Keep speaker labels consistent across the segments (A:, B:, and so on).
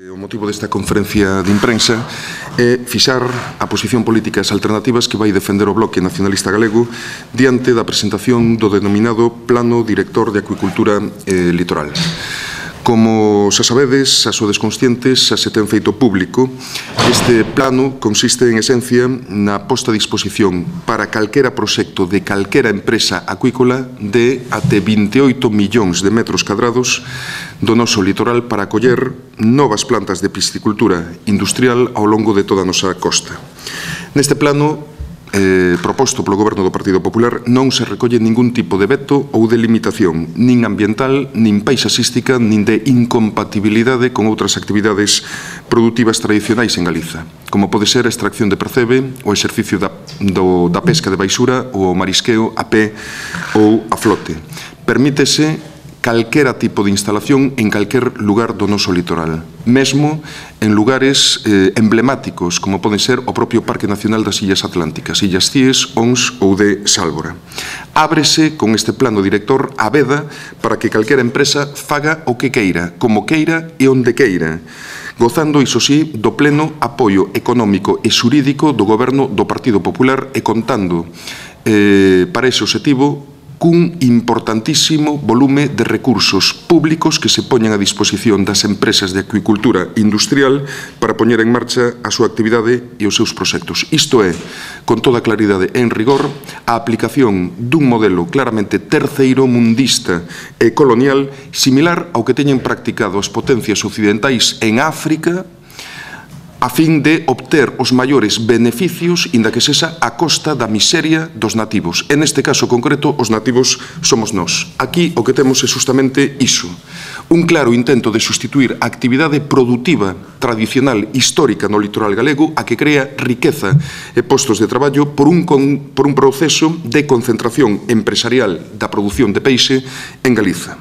A: O motivo desta conferencia de imprensa é fixar a posición política e as alternativas que vai defender o Bloque Nacionalista Galego diante da presentación do denominado Plano Director de Acuicultura Litoral. Como xa sabedes, xa sodes conscientes, xa se ten feito público, este plano consiste en esencia na posta a disposición para calquera proxecto de calquera empresa acuícola de até 28 millóns de metros cadrados do noso litoral para acoller novas plantas de piscicultura industrial ao longo de toda a nosa costa. Neste plano proposto polo Goberno do Partido Popular non se recolle ningún tipo de veto ou de limitación, nin ambiental, nin paisaxística, nin de incompatibilidade con outras actividades produtivas tradicionais en Galiza, como pode ser a extracción de percebe, o exercicio da pesca de baixura ou o marisqueo a pé ou a flote. Permítese calquera tipo de instalación en calquer lugar do noso litoral, mesmo en lugares emblemáticos, como poden ser o propio Parque Nacional das Illas Atlánticas, Illas Cíes, Ons ou de Sálvora. Ábrese con este plano director a veda para que calquera empresa faga o que queira, como queira e onde queira, gozando, iso sí, do pleno apoio económico e xurídico do Goberno do Partido Popular e contando para ese obxectivo cun importantísimo volume de recursos públicos que se poñen a disposición das empresas de acuicultura industrial para poñer en marcha a súa actividade e os seus proxectos. Isto é, con toda claridade e en rigor, a aplicación dun modelo claramente terceiromundista e colonial similar ao que teñen practicado as potencias occidentais en África a fin de obter os maiores beneficios inda que sexa a costa da miseria dos nativos. En este caso concreto, os nativos somos nós. Aquí o que temos é justamente iso. Un claro intento de sustituir a actividade produtiva tradicional histórica no litoral galego a que crea riqueza e postos de traballo por un proceso de concentración empresarial da produción de peixe en Galiza.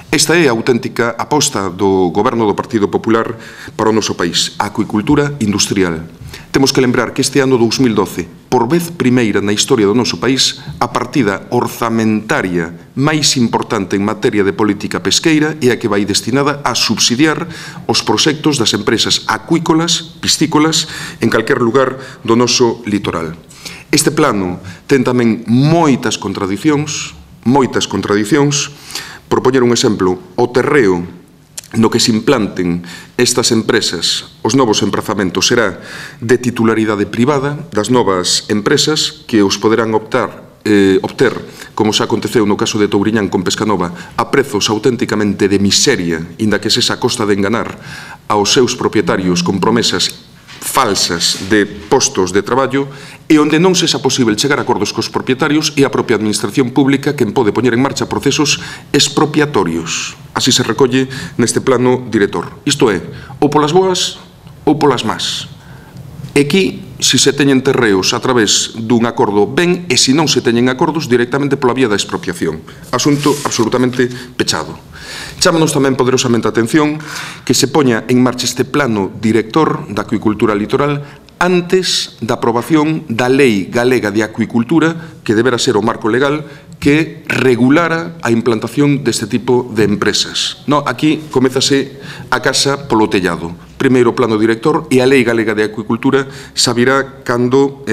A: Esta é a auténtica aposta do Goberno do Partido Popular para o noso país, a acuicultura industrial. Temos que lembrar que este ano 2012, por vez primeira na historia do noso país, a partida orzamentaria máis importante en materia de política pesqueira é a que vai destinada a subsidiar os proxectos das empresas acuícolas, piscícolas, en calquer lugar do noso litoral. Este plano ten tamén moitas contradicións. Por poñer un exemplo, o terreo no que se implanten estas empresas, os novos emprazamentos, será de titularidade privada das novas empresas que os poderán obter, como xa aconteceu no caso de Touriñán con Pescanova, a prezos auténticamente de miseria, inda que sexa a costa de enganar aos seus propietarios con promesas falsas de postos de traballo e onde non sexa posible chegar a acordos cos propietarios e a propia administración pública quen pode poñer en marcha procesos expropiatorios. Así se recolle neste plano director. Isto é, ou polas boas ou polas más. E aquí, se se teñen terreos a través dun acordo ben e se non se teñen acordos directamente pola vía da expropiación. Asunto absolutamente pechado. Chámanos tamén poderosamente a atención que se poña en marcha este plano director da acuicultura litoral antes da aprobación da Lei Galega de Acuicultura, que debera ser o marco legal que regulara a implantación deste tipo de empresas. Aquí comezase a casa polo tellado. Primeiro o plano director e a Lei Galega de Acuicultura xa virá cando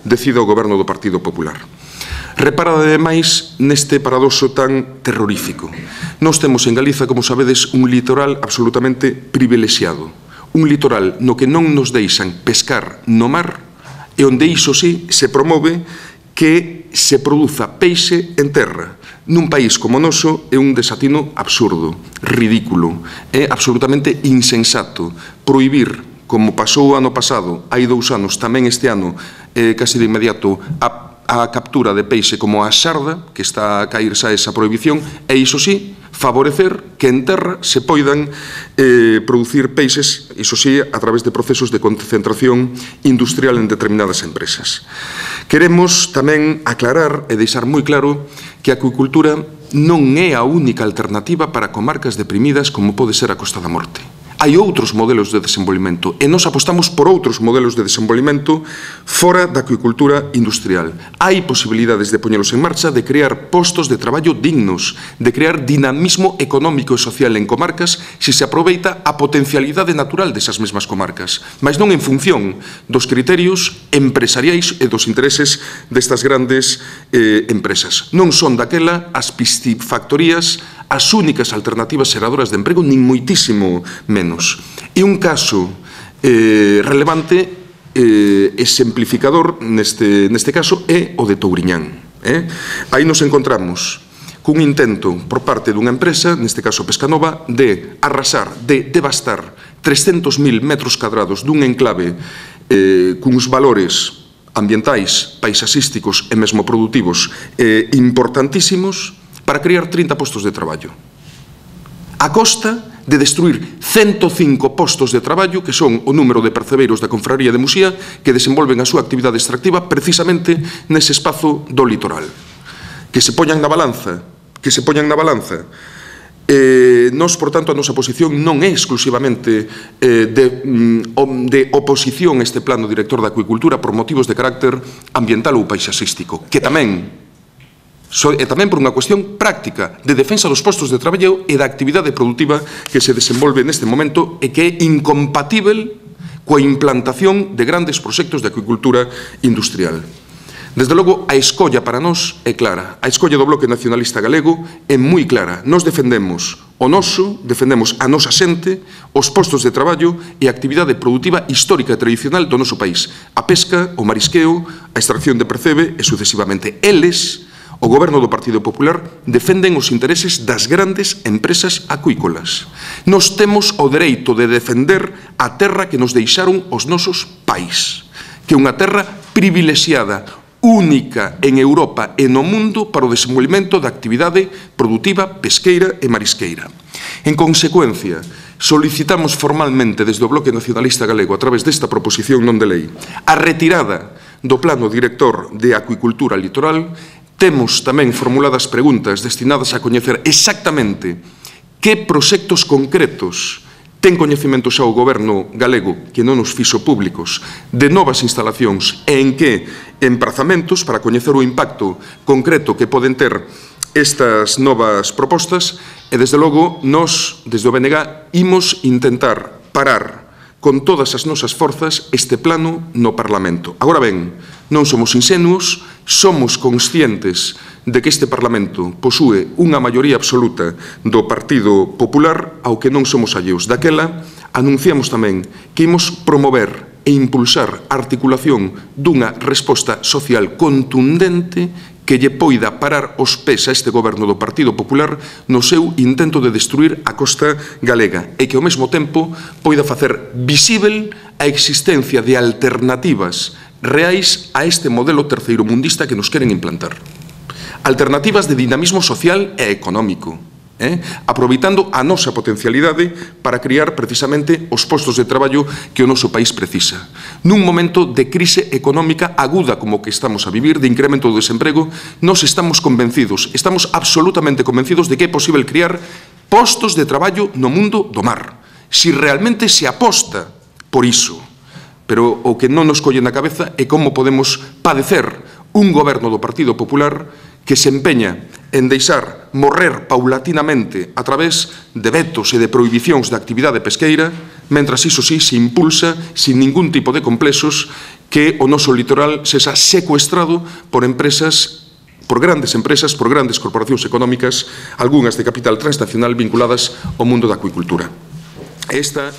A: decida o Goberno do Partido Popular. Reparada ademais neste paradoxo tan terrorífico. Nós temos en Galiza, como sabedes, un litoral absolutamente privilexiado. Un litoral no que non nos deixan pescar no mar e onde iso sí se promove que se produza peixe en terra. Nun país como o noso é un desatino absurdo, ridículo, é absolutamente insensato prohibir, como pasou o ano pasado, hai 2 anos, tamén este ano, casi de inmediato, a captura de peixe como a xarda, que está a caer xa esa prohibición, e iso sí, favorecer que en terra se poidan producir peixes, iso sí, a través de procesos de concentración industrial en determinadas empresas. Queremos tamén aclarar e deixar moi claro que a acuicultura non é a única alternativa para comarcas deprimidas como pode ser a Costa da Morte. Hai outros modelos de desenvolvemento e nós apostamos por outros modelos de desenvolvemento fora da acuicultura industrial. Hai posibilidades de poñelos en marcha, de crear postos de traballo dignos, de crear dinamismo económico e social en comarcas se se aproveita a potencialidade natural desas mesmas comarcas, mas non en función dos criterios empresariais e dos intereses destas grandes empresas. Non son daquela as piscifactorías as únicas alternativas xeradoras de emprego, nin moitísimo menos. E un caso relevante exemplificador neste caso é o de Touriñán. Aí nos encontramos cun intento por parte dunha empresa, neste caso Pescanova, de arrasar, de devastar 300.000 metros cadrados dun enclave cuns valores ambientais, paisaxísticos e mesmo produtivos importantísimos para crear 30 postos de traballo. A costa de destruir 105 postos de traballo, que son o número de percebeiros da Confraría de Muxía, que desenvolven a súa actividade extractiva precisamente nese espazo do litoral. Que se poñan na balanza, Nós, por tanto, a nosa posición non é exclusivamente de oposición a este plano director da acuicultura por motivos de carácter ambiental ou paisaxístico, que tamén por unha cuestión práctica de defensa dos postos de traballo e da actividade produtiva que se desenvolve neste momento e que é incompatível coa implantación de grandes proxectos de acuicultura industrial. Desde logo, a escolla para nós é clara. A escolla do Bloque Nacionalista Galego é moi clara. Nós defendemos a nosa xente, os postos de traballo e a actividade produtiva histórica e tradicional do noso país. A pesca, o marisqueo, a extracción de percebe e sucesivamente. Eles, o Goberno do Partido Popular, defenden os intereses das grandes empresas acuícolas. Nós temos o dereito de defender a terra que nos deixaron os nosos pais, que é unha terra privilexiada, única en Europa e no mundo para o desenvolvemento da actividade produtiva pesqueira e marisqueira. En consecuencia, solicitamos formalmente desde o Bloque Nacionalista Galego, a través desta proposición non de lei, a retirada do Plano Director de Acuicultura Litoral. Temos tamén formuladas preguntas destinadas a coñecer exactamente que proxectos concretos ten coñecemento xa o Goberno galego, que non nos fixo públicos, de novas instalacións e en que emprazamentos para coñecer o impacto concreto que poden ter estas novas propostas e, desde logo, nós, desde o BNG, imos intentar parar con todas as nosas forzas este plano no Parlamento. Agora ben, non somos insenuos, somos conscientes de que este Parlamento posúe unha maioría absoluta do Partido Popular, ao que non somos alleos. Daquela, anunciamos tamén que imos promover e impulsar a articulación dunha resposta social contundente que lle poida parar os pés a este goberno do Partido Popular no seu intento de destruir a costa galega e que ao mesmo tempo poida facer visível a existencia de alternativas reais a este modelo terceiromundista que nos queren implantar. Alternativas de dinamismo social e económico, aproveitando a nosa potencialidade para criar precisamente os postos de traballo que o noso país precisa. Nun momento de crise económica aguda como que estamos a vivir, de incremento do desemprego, nos estamos absolutamente convencidos de que é posible crear postos de traballo no mundo do mar, si realmente se aposta por iso. Pero o que non nos colle na cabeza é como podemos padecer un goberno do Partido Popular que se empeña en deixar morrer paulatinamente a través de vetos e de prohibicións da actividade pesqueira, mentras iso sí se impulsa sin ningún tipo de complexos que o noso litoral sexa secuestrado por empresas, por grandes empresas, por grandes corporacións económicas, algunhas de capital transnacional vinculadas ao mundo da acuicultura. Esta